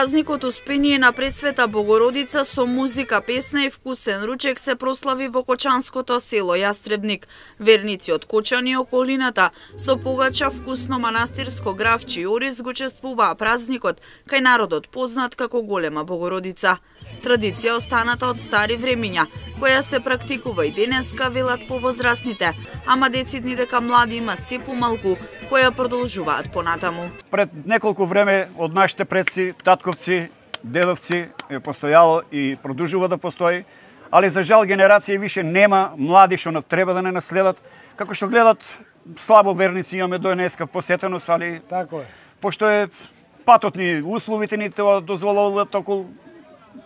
Празникот Успение на Пресвета Богородица со музика, песна и вкусен ручек се прослави во кочанското село Јастребник. Верници од Кочани и околината со погача вкусно манастирско гравче и ориз го чествуваа празникот кај народот познат како Голема Богородица. Традиција останата од стари времиња, која се практикува и денеска, велат повозрастните, ама децидни дека млади има се помалку, која продолжуваат понатаму. Пред неколку време од нашите предци, татковци, дедовци е постојало и продолжува да постои, али за жал генерација више нема млади што треба да не наследат, како што гледат слабо верници имаме до денеска посетеност, али Тако е. Пошто е патот ни, условите ни тоа дозволуваат околу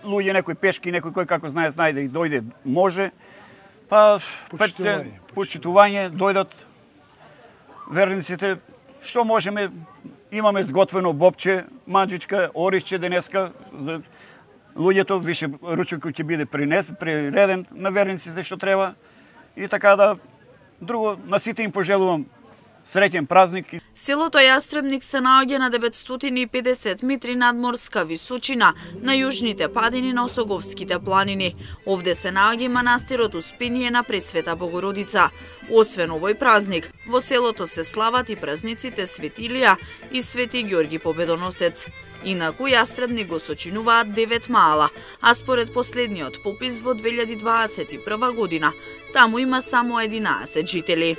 луѓе, некој пешки, некој кој како знае да и дојде, може. Па почитување, дојдат верниците, што можеме, имаме сготвено бобче, маџичка, орисче денеска, за луѓето више ручекот ќе биде приреден на верниците што треба и така да друго на сите им пожелувам среќен празник. Селото Јастребник се наоѓа на 950 метри надморска височина на јужните падини на Осоговските планини. Овде се наоѓа манастирот Успение на Пресвета Богородица. Освен овој празник, во селото се слават и празниците Свети Илија и Свети Ѓорги Победоносец. Инаку Јастребник го сочинуваат 9 мала, а според последниот попис во 2021 година, таму има само 11 жители.